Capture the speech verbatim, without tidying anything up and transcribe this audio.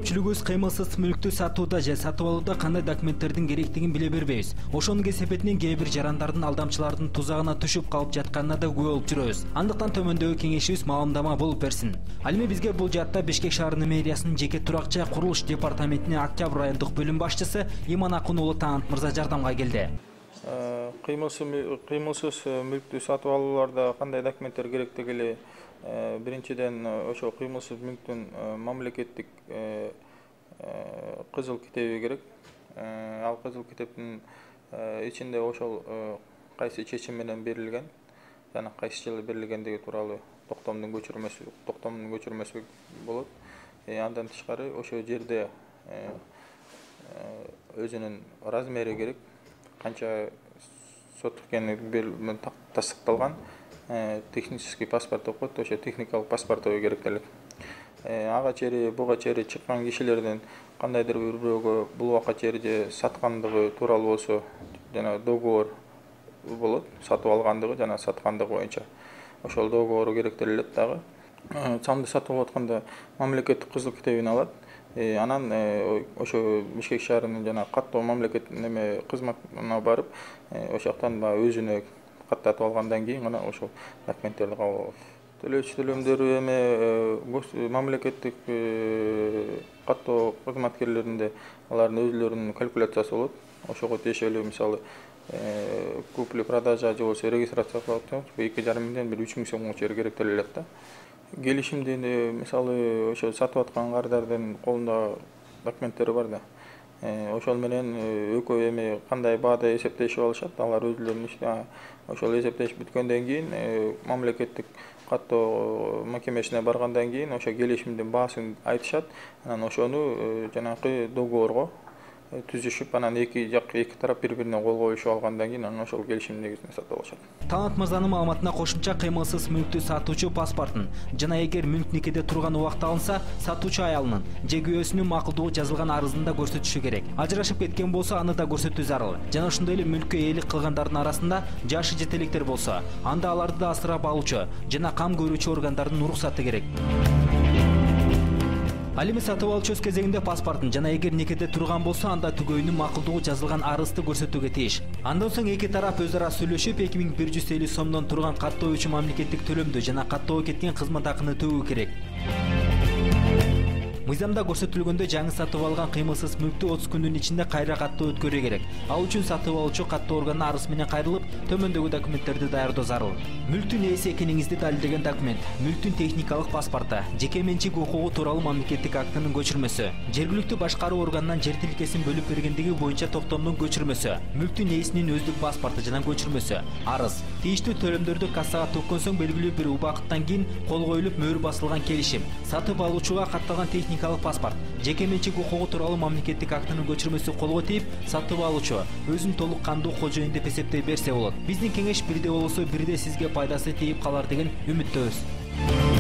көпчүлүгүбүз кыймылсыз мүлктү сатууда же сатып алууда кандай документтердин керектигин биле бербейбиз. Ошонун кесепетинен кээ бир жарандардын алдамчылардын тузагына түшүп калып жатканына да күбө болуп жүрөбүз. Андыктан төмөндөгү кеңешибиз маалымдама болуп берсин. Ал эми бизге бул жаатта Бишкек шаарынын мэриясынын жеке турак жай курулуш департаментинин Октябрь райондук бөлүм башчысы Иман Акун уулу Таанат мырза жардамга келди. Кыймылсыз мүлктү сатып алууларда кандай документтер керектиги эле биринчиден ошо кыймылсыз мүлктүн мамлекеттик кызыл китеби керек. Ал кызыл китептин ичинде ошол кайсы чечим менен берилген жана кайсы жылы берилгендиги тууралуу токтомдун көчүрмөсү токтомдун көчүрмөсү болот. Андан тышкары ошол жерде өзүнүн размери керек, канча соток экени тастыкталган технический паспорт деп коет, ошо техникалык паспорт керек элек. Ага чейин буга чейин чыккан кишилердин кандайдыр бир бирөөгө бул убакка чейин же саткандыгы тууралуу болсо жана договор болот, сатып алгандыгы жана саткандыгы боюнча ошол договору керектелет элек дагы. Самды сатып алып атканда мамлекеттик кызыл китебин алат. Анан ошо Бишкек шаарынын жана каттоо мамлекет неме кызматына барып, ошол жактан баягы өзүнө каттатып алгандан кийин гана ошол документтерди кабыл алат. Төлөөчү төлөмдөрү эми мамлекеттик каттоо кызматкерлеринде алардын өзүлөрүнүн калькуляциясы болот. Ошого тиешелүү мисалы купли-продажа же болбосо регистрация кылып эки жарым миңден бир үч миң сомго чейин керектелет элек да. Келишимди мисалы ошо сатып аткан кардардын колунда документтери бар да. Ошол менен экөө эми кандай баада эсептешип алышат, алар өзүлөрүнүн ошол эсептешип бүткөндөн кийин мамлекеттик каттоо мекемесине баргандан кийин ошо келишимдин баасын айтышат. Анан ошону жанакы договорго түзүшүп, анан эки жак эки тарап бири-бирине кол коюшуп алгандан кийин анан ошол келишим негизинде сатып алышат. Таанат мырзанын маалыматына кошумча кыймылсыз мүлктү сатуучу паспортун жана эгер мүлк никеде турган убакта алынса, сатуучу аялынын же күйөөсүнүн макулдугу жазылган арызын да көрсөтүшү керек. Ажырашып кеткен болсо, аны да көрсөтүү зарыл. Жана ошондой эле мүлккө ээлик кылгандардын арасында жашы жетеликтер болсо, анда аларды да асырап алуучу жана кам көрүүчү органдардын уруксаты керек. Ал эми сатып алуучу өз кезегинде паспортун жана эгер никеде турган болсо, анда түгөйүнүн макулдугу жазылган арызды көрсөтүүгө тийиш. Андан соң эки тарап өз ара сүйлөшүп, эки миң бир жүз элүү сомдон турган каттоочу мамлекеттик төлөмдү жана каттоого кеткен кызмат акыны төлөө керек. Мыйзамда көрсөтүлгөндөй жаңы сатып алган кыймылсыз мүлктү отуз күндүн ичинде кайра каттоо өткөрүү керек. Ал үчүн сатып алуучу каттоо органына арыз менен кайрылып, төмөндөгү документтерди даярдоо зарыл. Мүлктүн ээси экениңизди далилдеген документ, мүлктүн техникалык паспорту, жеке менчик укугу тууралуу мамлекеттик актынын көчүрмөсү, жергиликтүү башкаруу органынан жер тилкесин бөлүп бергендиги боюнча токтомдун көчүрмөсү, мүлктүн ээсинин өздүк паспорту жана көчүрмөсү, арыз, тийиштүү төлөмдөрдү кассага төккөн соң белгилүү бир убакыттан кийин кол коюлуп мөөр басылган келишим, сатып алуучуга катталган техникалык паспорт, жеке менчик укугу тууралуу мамлекеттик актынын көчүрмөсү колго тийип, сатып алуучу өзүн толук кандуу кожоюн деп эсептей берсе болот. Биздин кеңеш бирде болсо бирде сизге пайдасы тийип калар деген үмүттөбүз.